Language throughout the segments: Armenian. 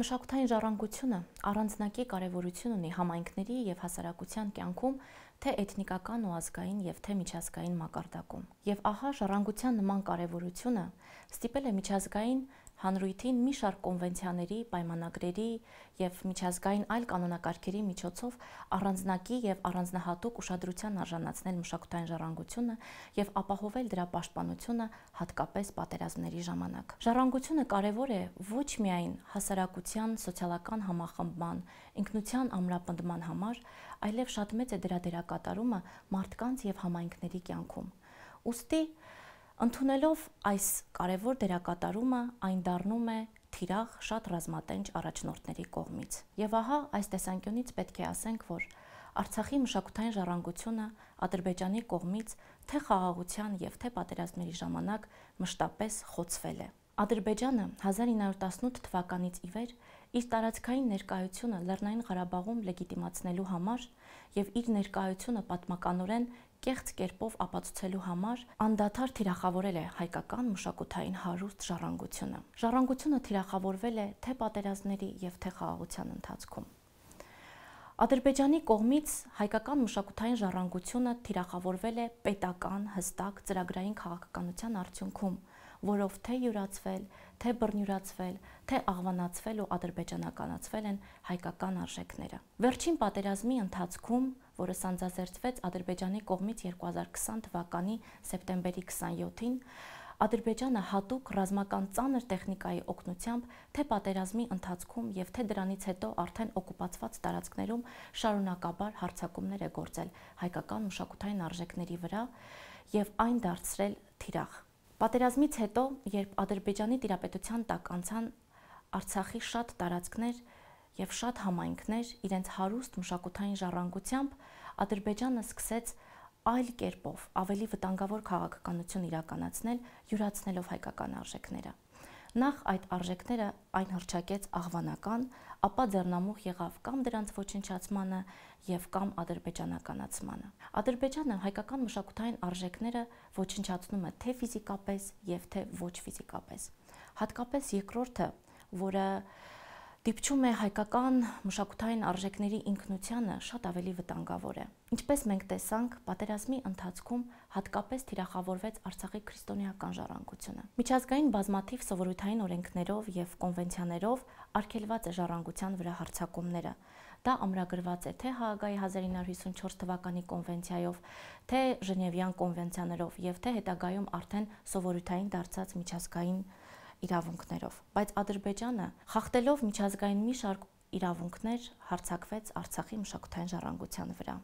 Մշակութային ժառանգությունը առանձնակի կարևորություն ունի համայնքների եւ հասարակության կյանքում, թե էթնիկական ու ազգային եւ թե միջազգային մակարդակում։ Եվ ահա ժառանգության նման կարևորությունը ստիպել է միջազգային հանրույթին մի շարք կոնվենցիաների, պայմանագրերի եւ միջազգային այլ կանոնակարգերի միջոցով առանձնակի եւ առանձնահատուկ ուշադրության արժանացնել մշակութային ժառանգությունը եւ ապահովել դրա պաշտպանությունը հատկապես պատերազմների ժամանակ։ Ժառանգությունը կարևոր է ոչ միայն հասարակության սոցիալական համախմբման, ինքնության ամրապնդման համար, այլև շատ մեծ է դրա դերակատարումը մարդկանց եւ համայնքների կյանքում։ Ուստի ընդունելով այս կարևոր դերակատարումը, այն դառնում է թիրախ շատ ռազմատենչ առաջնորդների կողմից։ Եվ ահա այս տեսանկյունից պետք է ասենք, որ Արցախի մշակութային ժառանգությունը Ադրբեջանի կողմից թե խաղաղության եւ թե պատերազմների ժամանակ մշտապես խոցվել է։ Ադրբեջանը 1918 թվականից ի վեր իր տարածքային ներկայությունը Լեռնային Ղարաբաղում լեգիտիմացնելու համար եւ իր ներկայությունը պատմականորեն կեղծ կերպով ապացուցելու համար անդադար թիրախավորել է հայկական մշակութային հարուստ ժառանգությունը։ Ժառանգությունը թիրախավորվել է թե պատերազմների եւ թե խաղաղության ընթացքում։ Ադրբեջանի կողմից հայկական մշակութային ժառանգությունը թիրախավորվել է պետական, հստակ ծրագրային քաղաքականության արդյունքում, որով թե յուրացվել, թե բռնյուրացվել, թե աղվանացվել ու ադրբեջանականացվել են հայկական արժեքները։ Վերջին պատերազմի ընթացքում, որը սանձազերծվեց Ադրբեջանի կողմից 2020 թվականի սեպտեմբերի 27-ին, Ադրբեջանը հատուկ ռազմական ծանր տեխնիկայի օգնությամբ թե պատերազմի ընթացքում եւ թե դրանից հետո արդեն օկուպացված տարածքներում շարունակաբար հարձակումներ է գործել հայկական մշակութային արժեքների վրա եւ այն դարձրել թիրախ։ Պատերազմից հետո, երբ Ադրբեջանի տիրապետության տակ անցան Արցախի շատ տարածքներ եւ շատ համայնքներ իրենց հարուստ մշակութային ժառանգությամբ, Ադրբեջանը սկսեց այլ կերպով ավելի վտանգավոր քաղաքականություն իրականացնել, յուրացնելով հայկական արժեքները։ Նախ այդ արժեքները այն հռչակեց աղվանական, ապա ձեռնամուխ եղավ կամ դրանց ոչնչացմանը եւ կամ ադրբեջանականացմանը։ Ադրբեջանը հայկական մշակութային արժեքները ոչնչացնում է թե ֆիզիկապես եւ թե ոչ ֆիզիկապես։ Հատկապես երկրորդը, որը դիպչում է հայկական մշակութային արժեքների ինքնությանը, շատ ավելի վտանգավոր է։ Ինչպես մենք տեսանք, պատերազմի ընթացքում հատկապես թիրախավորվեց Արցախի քրիստոնեական ժառանգությունը։ Միջազգային բազմաթիվ սովորութային օրենքներով եւ կոնվենցիաներով արգելված է ժառանգության վրա հարձակումները։ Դա ամրագրված է թե Հաագայի 1954 թվականի կոնվենցիայով, թե Ժնևյան կոնվենցիաներով եւ թե հետագայում արդեն սովորութային դարձած միջազգային իրավունքներով, բայց Ադրբեջանը խախտելով միջազգային մի շարք իրավունքներ հարձակվեց Արցախի մշակութային ժառանգության վրա։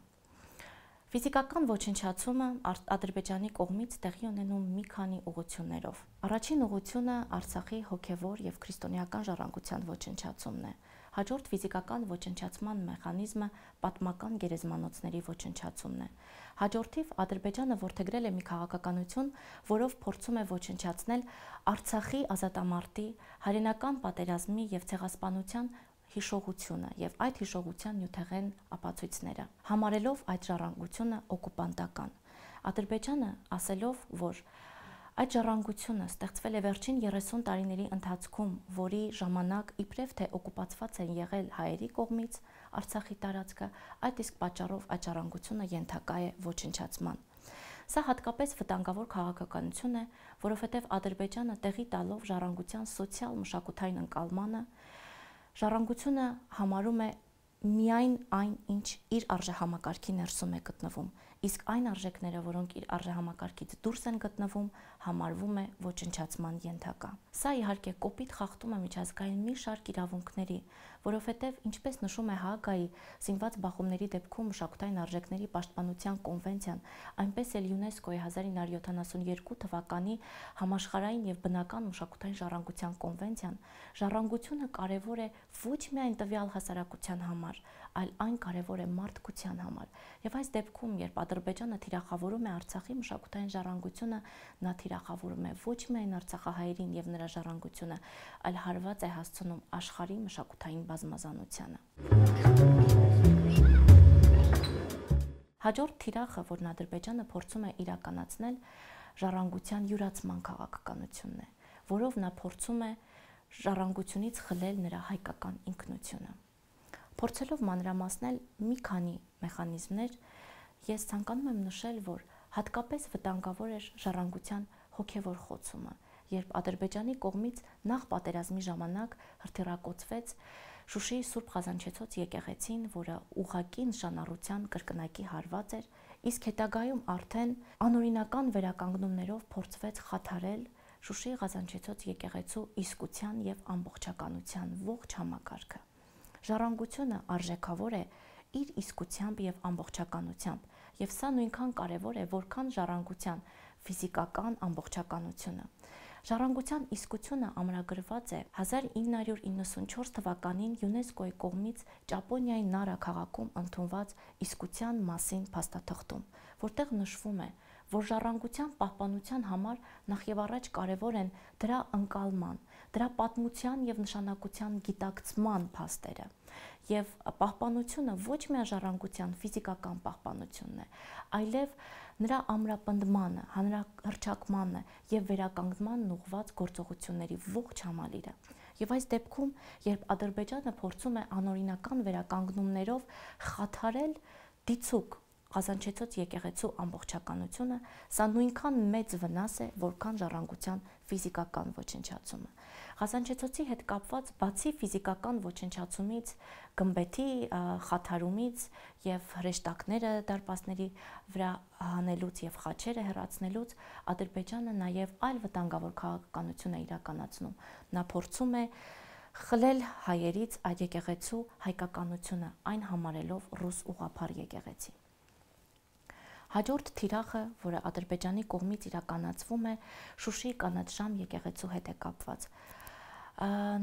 Ֆիզիկական ոչնչացումը Ադրբեջանի կողմից տեղի ունենում մի քանի ուղղություններով։ Առաջին ուղղությունը Արցախի հոգևոր եւ քրիստոնեական ժառանգության ոչնչացումն է։ Հաջորդ ֆիզիկական ոչնչացման մեխանիզմը պատմական գերեզմանոցների ոչնչացումն է։ Հաջորդիվ Ադրբեջանը որդեգրել է մի քաղաքականություն, որով փորձում է ոչնչացնել Արցախի ազատամարտի, հայրենական պատերազմի եւ ցեղասպանության հիշողությունը եւ այդ հիշողության նյութեղեն ապացույցները, համարելով այդ ժառանգությունը օկուպանտական։ Ադրբեջանը ասելով, որ այդ ժառանգությունը ստեղծվել է վերջին 30 տարիների ընթացքում, որի ժամանակ իբրև թե օկուպացված են եղել հայերի կողմից Արցախի տարածքը, այդ իսկ պատճառով այդ ժառանգությունը ենթակա է ոչնչացման։ Սա հատկապես վտանգավոր քաղաքականություն է, որովհետև Ադրբեջանը տեղի տալով ժառանգության սոցիալ մշակութային ընկալմանը, ժառանգությունը համարում է միայն այն, ինչ իր արժեհամակարգի ներսում է գտնվում, իսկ այն արժեքները, որոնք իր արժեհամակարգից դուրս են գտնվում, համարվում է ոչնչացման ենթակա։ Սա իհարկե կոպիտ խախտում է միջազգային մի շարք իրավունքների, որովհետև ինչպես նշում է Հաագայի զինված բախումների դեպքում մշակութային արժեքների պաշտպանության կոնվենցիան, այնպես էլ ՅՈՒՆԵՍԿՕ-ի 1972 թվականի համաշխարհային եւ բնական մշակութային ժառանգության կոնվենցիան, ժառանգությունը կարևոր է ոչ միայն տվյալ հասարակության համար, այլ այն կարևոր է մարդկության համար։ Եվ այս դեպքում, երբ Ադրբեջանը թիրախավորում է Արցախի մշակութային ժառանգությունը, նա թիրախավորում է ոչ միայն արցախահայերին եւ նրա ժառանգությունը, այլ հարված է հասցնում աշխարհի մշակութային բազմազանությանը։ Հաջորդ թիրախը, որն Ադրբեջանը փորձում է իրականացնել, ժառանգության յուրացման քաղաքականությունն է, որով նա փորձում է ժառանգությունից խլել նրա հայկական ինքնությունը։ Փորձելով մանրամասնել մի քանի մեխանիզմներ, ես ցանկանում եմ նշել, որ հատկապես վտանգավոր էր ժառանգության հոգևոր խոցումը, երբ Ադրբեջանի կողմից նախ պատերազմի ժամանակ հրթիռակոծվեց Շուշիի Սուրբ Ղազանչեցոց եկեղեցին, որը ուղղակի նշանառության կրկնակի հարված էր, իսկ հետագայում արդեն անօրինական վերականգնումներով փորձվեց խաթարել Շուշիի Ղազանչեցոց եկեղեցու իսկության եւ ամբողջականության ողջ համակարգը։ Ժառանգությունը արժեքավոր է իր իսկությամբ եւ ամբողջականությամբ, եւ սա նույնքան կարեւոր է, որքան ժառանգության ֆիզիկական ամբողջականությունը։ Ժառանգության իսկությունը ամրագրված է 1994 թվականին ՅՈՒՆԵՍԿՕ-ի կողմից Ճապոնիայի Նարա քաղաքում ընդունված իսկության մասին փաստաթղթում, որտեղ նշվում է, որ ժառանգության պահպանության համար նախևառաջ կարևոր են դրա ընկալման, դրա պատմության եւ նշանակության գիտակցման փաստերը, եւ պահպանությունը ոչ միայն ժառանգության ֆիզիկական պահպանությունն է, այլև նրա ամրապնդմանը, հանրահռչակմանը եւ վերականգնմանն ուղղված գործողությունների ողջ համալիրը։ Եվ այս դեպքում, երբ Ադրբեջանը փորձում է անօրինական վերականգնումներով խաթարել դիցուկ Ղազանչեցոց եկեղեցու ամբողջականությունը, սա նույնքան մեծ վնաս է, որքան ժառանգության ֆիզիկական ոչնչացումը։ Ղազանչեցոցի հետ կապված բացի ֆիզիկական ոչնչացումից, գմբեթի խաթարումից եւ հրեշտակները դարպասների վրա հանելուց եւ խաչերը հեռացնելուց, Ադրբեջանը նաեւ այլ վտանգավոր քաղաքականություն է իրականացնում։ Նա փորձում է խլել հայերից այդ եկեղեցու հայկականությունը, այն համարելով ռուս ուղղափառ եկեղեցի։ Հաջորդ թիրախը, որը Ադրբեջանի կողմից իրականացվում է, Շուշիի կանաչ ժամ եկեղեցու հետ է կապված։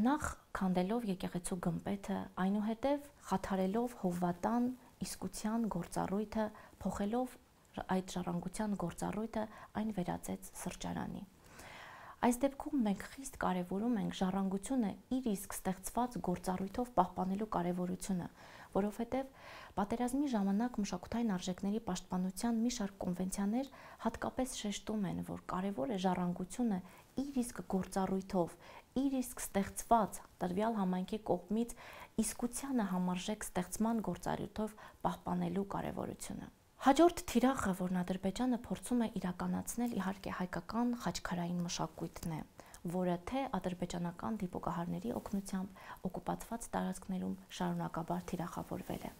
Նախ քանդելով եկեղեցու գմբեթը, այնուհետև խաթարելով հովվատան իսկության գործառույթը, փոխելով այդ ժառանգության գործառույթը, այն վերածեց սրճարանի։ Այս դեպքում մենք խիստ կարևորում ենք ժառանգությունը իր իսկ ստեղծված գործառույթով պահպանելու կարևորությունը, որովհետև պատերազմի ժամանակ մշակութային արժեքների պաշտպանության մի շարք կոնվենցիաներ հատկապես շեշտում են, որ կարևոր է ժառանգությունը իր իսկ գործառույթով, իր իսկ ստեղծված տրվյալ համայնքի կողմից իսկությանը համարժեք ստեղծման գործառույթով պահպանելու կարևորությունը։ Հաջորդ թիրախը, որն Ադրբեջանը փորձում է իրականացնել, իհարկե հայկական խաչքարային մշակույթն է, որը թե ադրբեջանական դիպուկահարների օգնությամբ օկուպացված տարածքներում շարունակաբար թիրախավորվել է։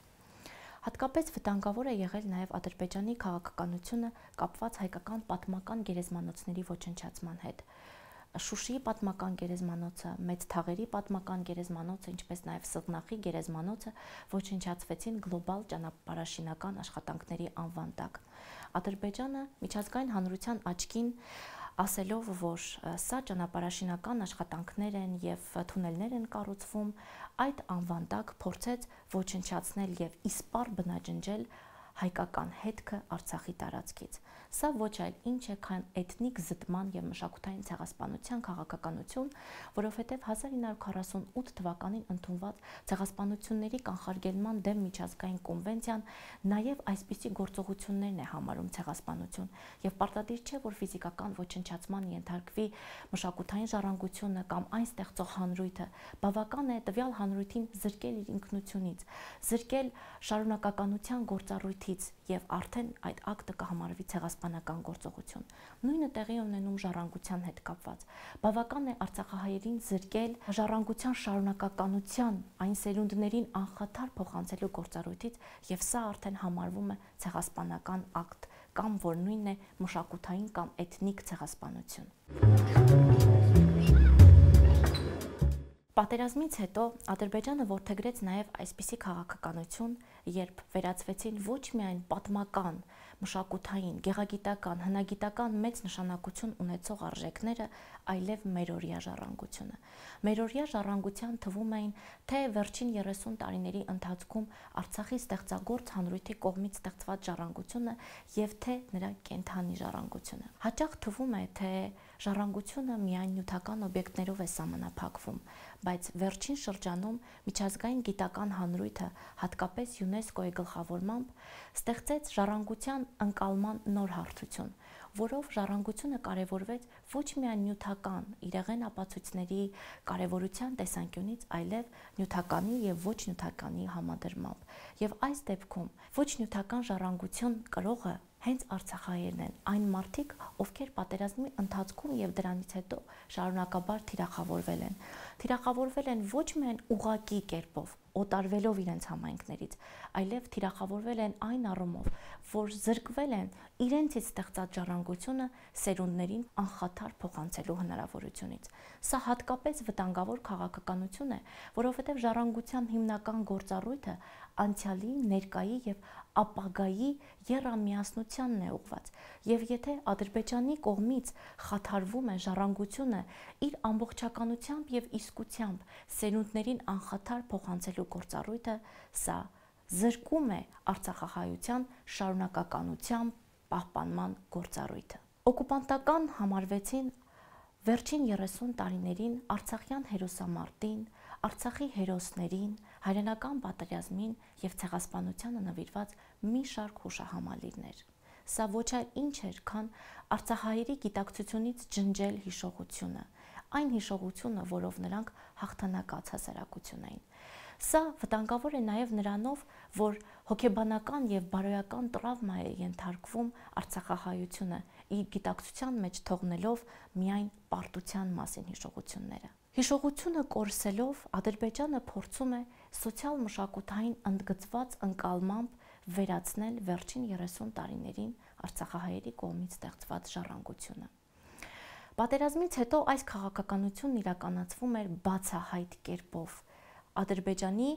Հատկապես վտանգավոր է եղել նաև Ադրբեջանի քաղաքականությունը կապված հայկական պատմական գերեզմանոցների ոչնչացման հետ։ Շուշիի պատմական գերեզմանոցը, Մեծ Թաղերի պատմական գերեզմանոցը, ինչպես նաև Սղնախի գերեզմանոցը ոչնչացվեցին գլոբալ ճանապարհաշինական աշխատանքների անվան տակ։ Ադրբեջանը միջազգային հանրության աչքին ասելով, որ սա ճանապարհաշինական աշխատանքներ են եւ թունելներ են կառուցվում, այդ անվան տակ փորձեց ոչնչացնել եւ իսպառ բնաջնջել հայկական հետքը Արցախի տարածքից։ Սա ոչ այլ ինչ է, քան էթնիկ զտման եւ մշակութային ցեղասպանության քաղաքականություն, որովհետեւ 1948 թվականին ընդունված ցեղասպանությունների կանխարգելման դեմ միջազգային կոնվենցիան նաեւ այսպիսի գործողություններն է համարում ցեղասպանություն, եւ պարտադիր չէ, որ ֆիզիկական ոչնչացման ենթարկվի մշակութային ժառանգությունը կամ այն ստեղծող հանրույթը, բավական է տվյալ հանրույթին զրկել իր ինքնությունից, զրկել շարունակականության գործառույթից եւ արդեն այդ ակտը կհամարվի ցեղասպանական գործողություն։ Նույնը տեղի ունենում ժառանգության հետ կապված։ Բավական է արցախահայերին զրկել ժառանգության շարունակականության այն սերունդներին անխաթար փոխանցելու գործառույթից եւ սա արդեն համարվում է ցեղասպանական ակտ կամ որ նույնն է մշակութային կամ էթնիկ ցեղասպանություն։ Պատերազմից հետո Ադրբեջանը որդեգրեց նաև այսպիսի քաղաքականություն, երբ վերածվեցին ոչ միայն պատմական, մշակութային, գեղագիտական, հնագիտական մեծ նշանակություն ունեցող արժեքները, այլև մերօրյա ժառանգությունը։ Մերօրյա ժառանգության թվում էին թե վերջին 30 տարիների ընթացքում Արցախի ստեղծագործ հանրույթի կողմից ստեղծված ժառանգությունը եւ թե նրա կենթանի ժառանգությունը։ Հաճախ թվում է, թե ժառանգությունը միայն նյութական օբյեկտներով է սահմանափակվում, բայց վերջին շրջանում միջազգային գիտական հանրույթը, հատկապես ՅՈՒՆԵՍԿՕ-ի գլխավորմամբ, ստեղծեց ժառանգության ընկալման նոր հարթություն, որով ժառանգությունը կարևորվեց ոչ միայն նյութական իրեղեն ապացույցների կարևորության տեսանկյունից, այլև նյութականի եւ ոչ նյութականի համադրմամբ։ Եվ այս դեպքում ոչ նյութական ժառանգություն կրողը հենց արցախահայերն են, այն մարդիկ, ովքեր պատերազմի ընթացքում եւ դրանից հետո շարունակաբար թիրախավորվել են։ Թիրախավորվել են ոչ միայն ուղղակի կերպով, օտարվելով իրենց համայնքներից, այլև թիրախավորվել են այն առումով, որ զրկվել են իրենցից ստեղծած ժառանգությունը սերունդներին անխաթար փոխանցելու հնարավորությունից։ Սա հատկապես վտանգավոր քաղաքականություն է, որովհետև ժառանգության հիմնական գործառույթը անցյալի, ներկայի եւ ապագայի եռամիասնությանն է ուղղված, եւ եթե Ադրբեջանի կողմից խաթարվում է ժառանգությունը իր ամբողջականությամբ եւ իսկությամբ սերունդներին անխաթար փոխանցելու գործառույթը, սա զրկում է արցախահայության շարունակականությամբ պահպանման գործառույթը։ Օկուպանտական համարվեցին վերջին 30 տարիներին արցախյան հերոսամարտին, Արցախի հերոսներին, հայրենական պատերազմին եւ ցեղասպանությանը նվիրված մի շարք հուշահամալիրներ։ Սա ոչ այլ ինչ էր, քան արցախահայերի գիտակցությունից ջնջել հիշողությունը, այն հիշողությունը, որով նրանք հաղթանակած հասարակություն էին։ Սա վտանգավոր է նաև նրանով, որ հոգեբանական եւ բարոյական տրավմա է ենթարկվում արցախահայությունը, իր գիտակցության մեջ թողնելով միայն պարտության մասին հիշողությունները։ Հիշողությունը կորսելով Ադրբեջանը փորձում է սոցիալ-մշակութային ընդգծված ընկալմամբ վերացնել վերջին 30 տարիներին արցախահայերի կողմից ստեղծված ժառանգությունը։ Պատերազմից հետո այս քաղաքականությունն իրականացվում էր բացահայտ կերպով։ Ադրբեջանի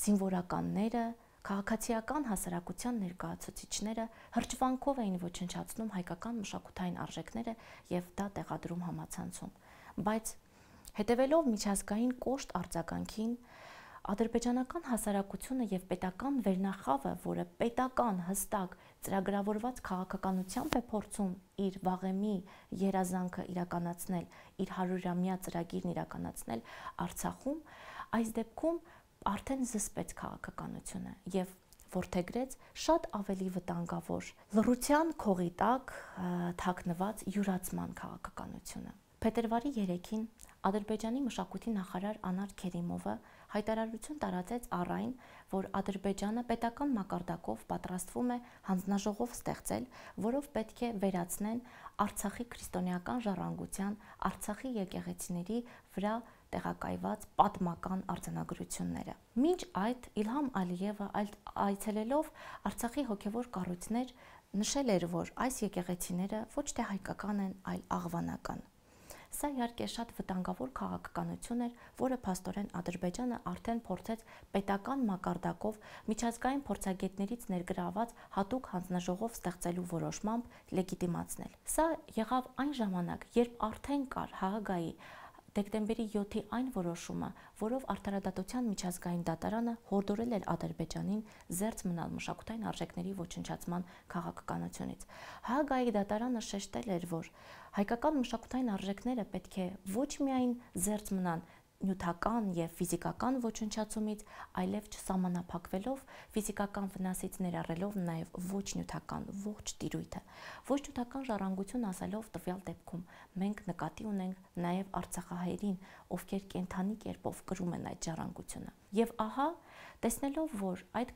զինվորականները, քաղաքացիական հասարակության ներկայացուցիչները հրճվանքով էին ոչնչացնում հայկական մշակութային արժեքները եւ դա տեղադրում համացանցում։ Բայց հետևելով միջազգային կոշտ արձագանքին, ադրբեջանական հասարակությունը եւ պետական վերնախավը, որը պետական հստակ ծրագրավորված քաղաքականությամբ է փորձում իր վաղեմի երազանքը իրականացնել, իր 100-ամյա ծրագիրն իրականացնել Արցախում, այս դեպքում արդեն զսպեց քաղաքականությունը եւ որդեգրեց շատ ավելի վտանգավոր լռության քողի տակ թաքնված յուրացման քաղաքականությունը։ Փետրվարի 3-ին Ադրբեջանի մշակույթի նախարար Անար Քերիմովը հայտարարություն տարածեց առ այն, որ Ադրբեջանը պետական մակարդակով պատրաստվում է հանձնաժողով ստեղծել, որով պետք է վերացնեն Արցախի քրիստոնեական ժառանգության, Արցախի եկեղեցիների վրա տեղակայված պատմական արձանագրությունները։ Մինչ այդ Իլհամ Ալիևը այցելելով Արցախի հոգևոր կառույցներ նշել էր, որ այս եկեղեցիները ոչ թե հայկական են, այլ աղվանական։ Սա իհարկե շատ վտանգավոր քաղաքականություն էր, որը փաստորեն Ադրբեջանը արդեն փորձեց պետական մակարդակով միջազգային փորձագետներից ներգրաված հատուկ հանձնաժողով ստեղծելու որոշմամբ լեգիտիմացնել։ Սա եղավ այն ժամանակ, երբ արդեն կար ՀՀԳ-ի դեկտեմբերի 7-ի այն որոշումը, որով Արդարադատության միջազգային դատարանը հորդորել էր Ադրբեջանին զերծ մնալ մշակութային արժեքների ոչնչացման քաղաքականությունից։ ՀՀԳ-ի դատարանը շեշտել էր, որ հայկական մշակութային արժեքները պետք է ոչ միայն զերծ մնան նյութական եւ ֆիզիկական ոչնչացումից, այլև չսահմանափակվելով ֆիզիկական վնասից ներառելով նաեւ ոչ նյութական ողջ տիրույթը։ Ոչ նյութական ժառանգություն ասելով տվյալ դեպքում մենք նկատի ունենք նաեւ արցախահայերին, ովքեր կենթանի կերպով կրում են այդ ժառանգությունը։ Եվ ահա, տեսնելով, որ այդ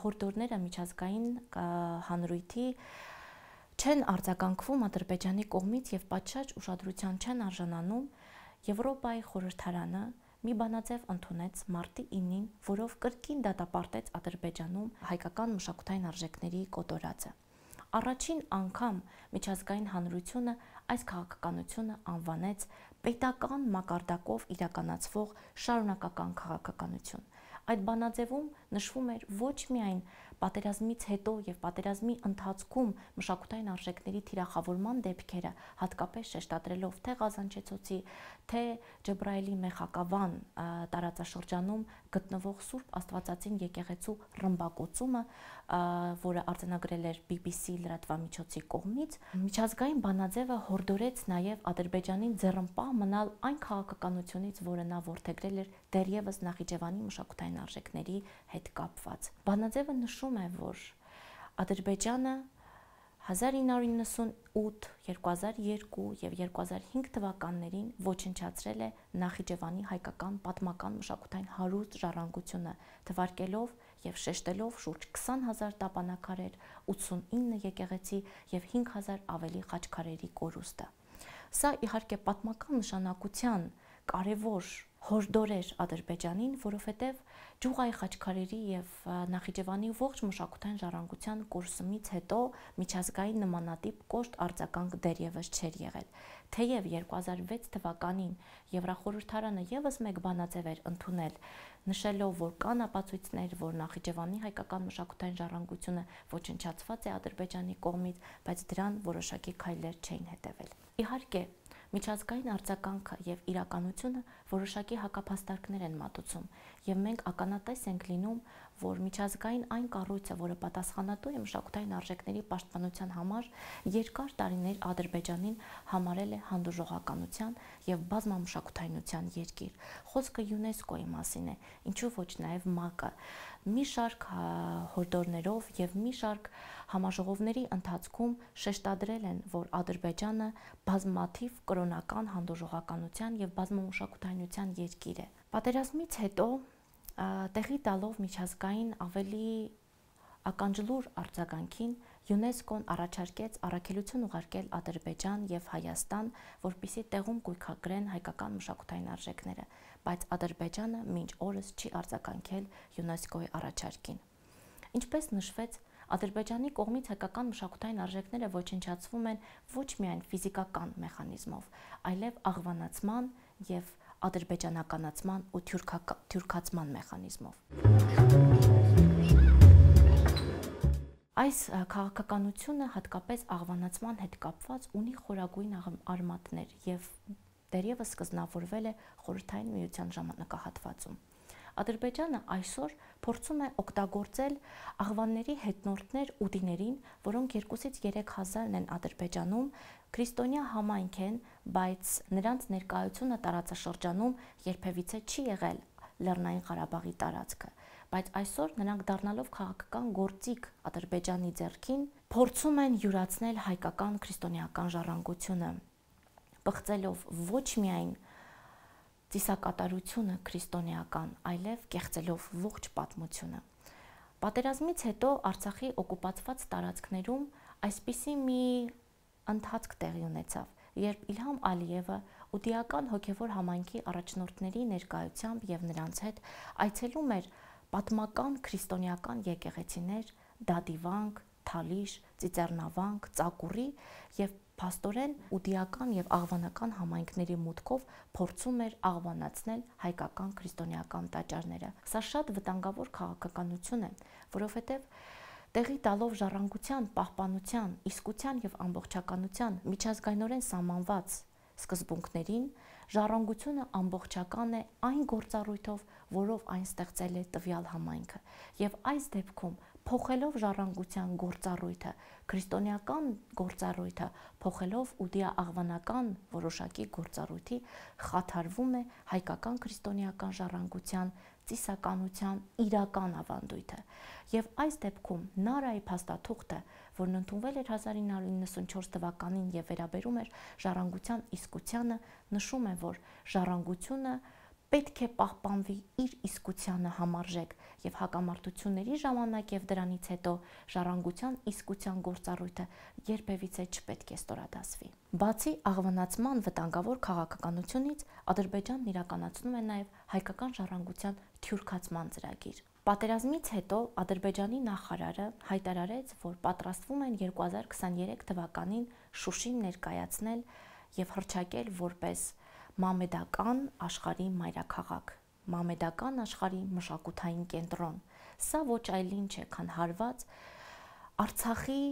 հորդորները միջազգային հանրույթի չեն արձագանքվում Ադրբեջանի կողմից եւ պատշաճ ուշադրության չեն արժանանում, Եվրոպայի խորհրդարանը մի բանաձև ընդունեց մարտի 9-ին, որով կրկին դատապարտեց Ադրբեջանում հայկական մշակութային արժեքների կոտորածը։ Առաջին անգամ միջազգային հանրությունը այս քաղաքականությունը անվանեց պետական մակարդակով իրականացվող շարունակական քաղաքականություն։ Այդ բանաձևում նշվում էր ոչ միայն պատերազմից հետո եւ պատերազմի ընթացքում մշակութային արժեքների թիրախավորման դեպքերը, հատկապես շեշտադրելով թե Ղազանչեցոցի, թե Ջբրայելի Մեխակավան տարածաշրջանում գտնվող Սուրբ Աստվածածին եկեղեցու ռմբակոծումը, որը արձանագրել էր BBC լրատվամիջոցի կողմից, միջազգային բանաձևը հորդորեց նաեւ Ադրբեջանին ձեռնպահ մնալ այն քաղաքականությունից, որը նա որդեգրել էր դեռևս Նախիջևանի մշակութային արժեքների հետ կապված։ Բանաձևը նշում է, որ Ադրբեջանը 1998, 2002 և 2005 թվականներին ոչնչացրել է Նախիջևանի հայկական պատմական մշակութային հարուստ ժառանգությունը, թվարկելով և շեշտելով շուրջ 20,000 տապանակարեր, 89 եկեղեցի և 5,000 ավելի խաչքարերի կորուստը։ Սա իհարկե պատմական նշանակության կարևոր հորդոր էր Ադրբեջանին, որովհետև Ջուղայի խաչքարերի և Նախիջևանի ողջ մշակութային ժառանգության կորսումից հետո միջազգային նմանատիպ կոշտ արձագանք դեռևս չէր եղել։ Թեև 2006 թվականին Եվրախորհրդարանը ևս մեկ բանաձև էր ընդունել, նշելով, որ կան ապացույցներ, որ Նախիջևանի հայկական մշակութային ժառանգությունը ոչնչացված է Ադրբեջանի կողմից, բայց դրան որոշակի քայլեր չէին հետևել։ Իհարկե, միջազգային արձագանքը և իրականությունը որոշակի հակափաստարկներ են մատուցում, և մենք ականատես ենք լինում, որ միջազգային այն կառույցը, որը պատասխանատու է մշակութային արժեքների պաշտպանության համար, երկար տարիներ Ադրբեջանին համարել է հանդուրժողականության և բազմամշակութայնության երկիր։ Խոսքը ՅՈՒՆԵՍԿՕ-ի մասին է, ինչու ոչ նաև ՄԱԿ-ը մի շարք հորդորներով և մի շարք համաժողովների ընթացքում շեշտադրել են, որ Ադրբեջանը բազմաթիվ կրոնական հանդուրժողականության և բազմամշակութայնության երկիր է։ Պատերազմից հետո տեղի տալով միջազգային ավելի ականջլուր արձագանքին, ՅՈՒՆԵՍԿՕ-ն առաջարկեց առաքելություն ուղարկել Ադրբեջան և Հայաստան, որպեսզի տեղում կույքագրեն հայկական մշակութային արժեքները, բայց Ադրբեջանը մինչ օրս չի արձագանքել ՅՈՒՆԵՍԿՕ-ի առաջարկին։ Ինչպես նշվեց, Ադրբեջանի կողմից հայկական մշակութային արժեքները ոչնչացվում են ոչ միայն ֆիզիկական մեխանիզմով, այլև աղվանացման և ադրբեջանականացման ու թյուրքացման մեխանիզմով։ Այս քաղաքականությունը հատկապես աղվանացման հետ կապված ունի խորագույն արմատներ և դեռևս սկզբնավորվել է Խորհրդային Միության ժամանակահատվածում։ Ադրբեջանը այսօր փորձում է օգտագործել աղվանների հետնորդներ ուդիներին, որոնք 2000-3000 են Ադրբեջանում, քրիստոնյա համայնք են, բայց նրանց ներկայությունը տարածաշրջանում երբևիցե չի եղել Լեռնային Ղարաբաղի տարածքը, բայց այսօր նրանք դառնալով քաղաքական գործիք Ադրբեջանի ձեռքին, փորձում են յուրացնել հայկական քրիստոնեական ժառանգությունը, պղծելով ոչ միայն ծիսակատարությունը քրիստոնեական, այլև կեղծելով ողջ պատմությունը։ Պատերազմից հետո Արցախի օկուպացված տարածքներում այսպիսի մի ընթացք տեղի ունեցավ, երբ Իլհամ Ալիևը ուդիական հոգևոր համայնքի առաջնորդների ներկայությամբ և նրանց հետ այցելում էր պատմական քրիստոնեական եկեղեցիներ Դադիվանք, Թալիշ, Ծիծեռնավանք, Ծակուրի և փաստորեն ուդիական և աղվանական համայնքների մուտքով փորձում էր աղվանացնել հայկական քրիստոնեական տաճարները։ Սա շատ վտանգավոր քաղաքականություն է, որովհետև տեղի տալով ժառանգության, պահպանության, իսկության և ամբողջականության միջազգայնորեն սահմանված սկզբունքներին, ժառանգությունը ամբողջական է այն գործառույթով, որով այն ստեղծել է տվյալ համայնքը, և այս դեպքում փոխելով ժառանգության գործառույթը, քրիստոնեական գործառույթը փոխելով ուդիա-աղվանական որոշակի գործառույթի, խաթարվում է հայկական քրիստոնեական ժառանգության ծիսականության իրական ավանդույթը։ Եվ այս դեպքում Նարայի փաստաթուղթը, որն ընդունվել էր 1994 թվականին և վերաբերում էր ժառանգության իսկությանը, նշում է, որ ժառանգությունը պետք է պահպանվի իր իսկությանը համարժեք և հակամարտությունների ժամանակ և դրանից հետո ժառանգության իսկության գործառույթը երբևիցե չպետք է ստորադասվի։ Բացի աղվանացման վտանգավոր քաղաքականությունից, Ադրբեջանն իրականացնում է նաև հայկական ժառանգության թյուրքացման ծրագիր։ Պատերազմից հետո Ադրբեջանի նախարարը հայտարարեց, որ պատրաստվում են 2023 թվականին Շուշին ներկայացնել և հռչակել որպես մամեդական աշխարհի մայրաքաղաք, մամեդական աշխարհի մշակութային կենտրոն։ Սա ոչ այլ ինչ է, քան հարված Արցախի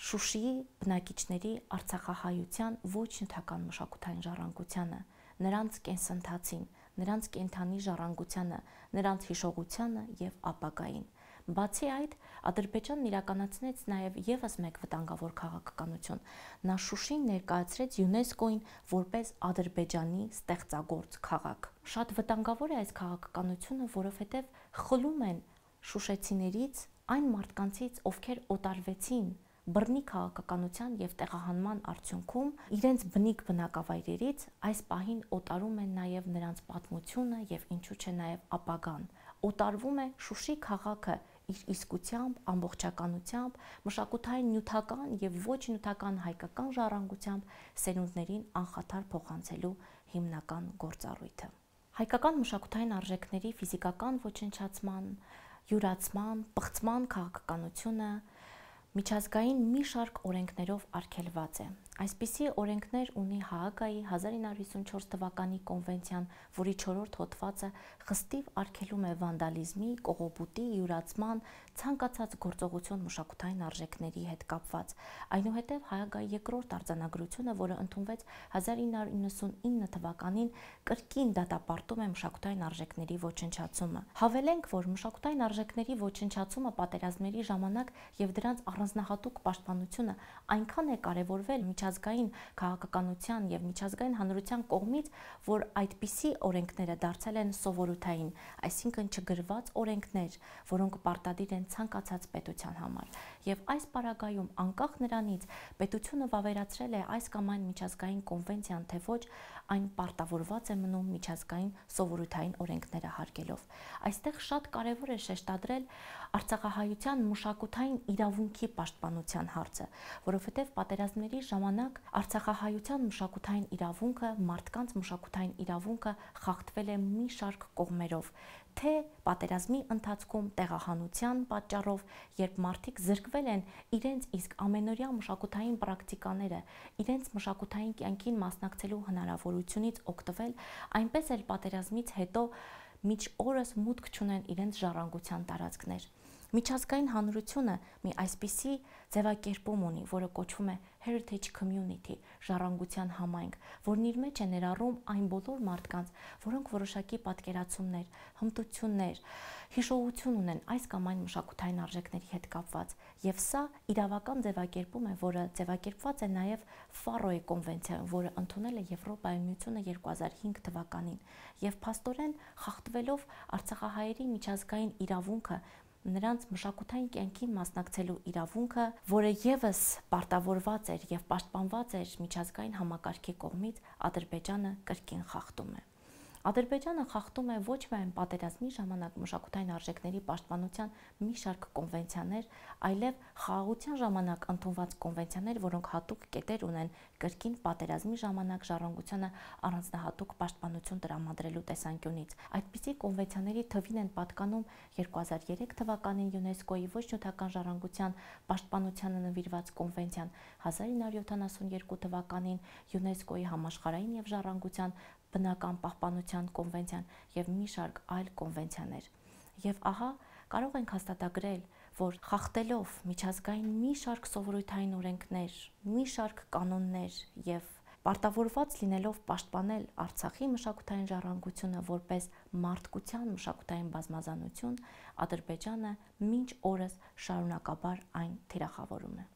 Շուշիի բնակիչների արցախահայության ոչ նյութական մշակութային ժառանգությանը, նրանց կենսընթացին, նրանց կենդանի ժառանգությանը, նրանց հիշողությանը և ապագային։ Բացի այդ, Ադրբեջանն իրականացնեց նաև ևս մեկ վտանգավոր քաղաքականություն։ Նա Շուշին ներկայացրեց ՅՈՒՆԵՍԿՕ-ին որպես Ադրբեջանի ստեղծագործ քաղաք։ Շատ վտանգավոր է այս քաղաքականությունը, որովհետև խլում են շուշեցիներից այն մարդկանցից, ովքեր օտարվեցին բռնի քաղաքականության եւ տեղահանման արդյունքում իրենց բնիկ բնակավայրերից այս պահին օտարում են նաեւ նրանց պատմությունը եւ ինչու՞ չէ նաեւ ապագան։ Օտարվում է Շուշի քաղաքը իր իսկությամբ, ամբողջականությամբ, մշակութային նյութական եւ ոչ նյութական հայկական ժառանգությամբ սերունդներին անխաթար փոխանցելու հիմնական գործառույթը։ Հայկական մշակութային արժեքների ֆիզիկական ոչնչացման, յուրացման, պղծման քաղաքականությունը միջազգային մի շարք օրենքներով արգելված է։ Այսպիսի օրենքներ ունի Հաագայի 1954 թվականի կոնվենցիան, որի 4-րդ հոդվածը խստիվ արգելում է վանդալիզմի, կողոպուտի, յուրացման, ցանկացած գործողություն մշակութային արժեքների հետ կապված։ Այնուհետև Հաագայի 2-րդ արձանագրությունը, որը ընդունվեց 1999 թվականին, կրկին դատապարտում է մշակութային արժեքների ոչնչացումը։ Հավելենք, որ մշակութային արժեքների ոչնչացումը պատերազմների ժամանակ եւ դրանց առանձնահատուկ պաշտպանությունը այնքան է կարևորվել միջազգային քաղաքականության եւ միջազգային հանրության կողմից, որ այդպիսի օրենքները դարձել են սովորութային, այսինքն չգրված օրենքներ, որոնք պարտադիր են ցանկացած պետության համար։ Եվ այս պարագայում, անկախ նրանից, պետությունը վավերացրել է այս կամ այն միջազգային կոնվենցիան, թե ոչ, այն պարտավորված է մնում միջազգային սովորութային օրենքները հարգելով։ Այստեղ շատ կարևոր է շեշտադրել արցախահայության մշակութային իրավունքի պաշտպանության հարցը, որովհետև պատերազմների ժամանակ արցախահայության մշակութային իրավունքը, մարդկանց մշակութային իրավունքը խախտվել է մի շարք կողմերով, թե պատերազմի ընթացքում տեղահանության պատճառով, երբ մարդիկ զրկվել են իրենց իսկ ամենօրյա մշակութային պրակտիկաները, իրենց մշակութային կյանքին մասնակցելու հնարավորությունից օգտվել, այնպես էլ պատերազմից հետո մինչ օրս մուտք չունեն իրենց ժառանգության տարածքներ։ Միջազգային հանրությունը մի այսպիսի ձևակերպում ունի, որը կոչվում է Heritage Community, ժառանգության համայնք, որն իր մեջ է ներառում այն բոլոր մարդկանց, որոնք որոշակի պատկերացումներ, հմտություններ, հիշողություն ունեն այս կամ այն մշակութային արժեքների հետ կապված, եւ սա իրավական ձևակերպում է, որը ձևակերպված է նաեւ Ֆարոյի կոնվենցիայում, որը ընդունել է Եվրոպայի միությունը 2005 թվականին, եւ փաստորեն խախտվելով արցախահայերի միջազգային իրավունքը, նրանց մշակութային կյանքին մասնակցելու իրավունքը, որը եւս պարտավորված էր եւ պաշտպանված էր միջազգային համակարգի կողմից, Ադրբեջանը կրկին խախտում է։ Ադրբեջանը խախտում է ոչ միայն պատերազմի ժամանակ մշակութային արժեքների պաշտպանության մի շարք կոնվենցիաներ, այլև խաղաղության ժամանակ ընդունված կոնվենցիաներ, որոնք հատուկ կետեր ունեն կրկին պատերազմի ժամանակ ժառանգությանը առանձնահատուկ պաշտպանություն տրամադրելու տեսանկյունից։ Այդպիսի կոնվենցիաների թվին են պատկանում 2003 թվականին ՅՈՒՆԵՍԿՕ-ի ոչ նյութական ժառանգության պաշտպանությանը նվիրված կոնվենցիան, 1972 թվականին ՅՈՒՆԵՍԿՕ-ի համաշխարհային եւ ժառանգության բնական պահպանության կոնվենցիան եւ մի շարք այլ կոնվենցիաներ։ Եվ ահա կարող ենք հաստատագրել, որ խախտելով միջազգային մի շարք սովորութային օրենքներ, մի շարք կանոններ եւ պարտավորված լինելով պաշտպանել Արցախի մշակութային ժառանգությունը որպես մարդկության մշակութային բազմազանություն, Ադրբեջանը մինչ օրս շարունակաբար այն թիրախավորում է։